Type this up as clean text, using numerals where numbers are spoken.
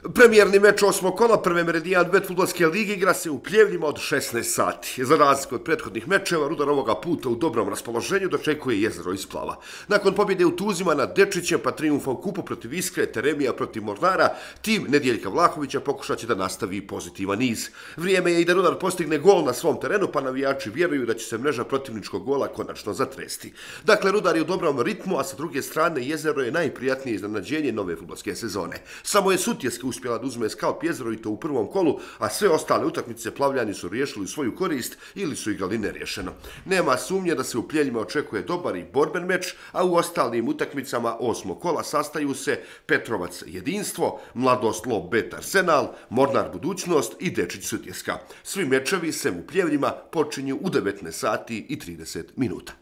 Premijerni meč osmog kola prve Meridijan Bet fudbalske lige igra se u Pljevljima od 16 sati. Za razliku od prethodnih mečeva, Rudar ovoga puta u dobrom raspoloženju dočekuje Jezero iz Plava. Nakon pobjede u Tuzima nad Dečićem pa trijumfa u kupu protiv Iskre, Teremija protiv Mornara, tim Nedjeljka Vlahovića pokušat će da nastavi pozitivan niz. Vrijeme je i da Rudar postigne gol na svom terenu, pa navijači vjeruju da će se mreža protivničkog gola konačno zatresti. Dakle, Rudar je u dobrom ritmu, a sa druge strane Jezero je najprijatnije iznenađenje nove fudbalske sezone. Samo je Sutjeska uspjela da uzme skalp Jezero i to u prvom kolu, a sve ostale utakmice Plavljani su riješili u svoju korist ili su igrali nerješeno. Nema sumnje da se u Pljevljima očekuje dobar i borben meč, a u ostalim utakmicama osmog kola sastaju se Petrovac Jedinstvo, Mladost Lob Bet Arsenal, Mornar Budućnost i Dečić Sutjeska. Svi mečevi sem u Pljevljima počinju u 19 sati i 30 minuta.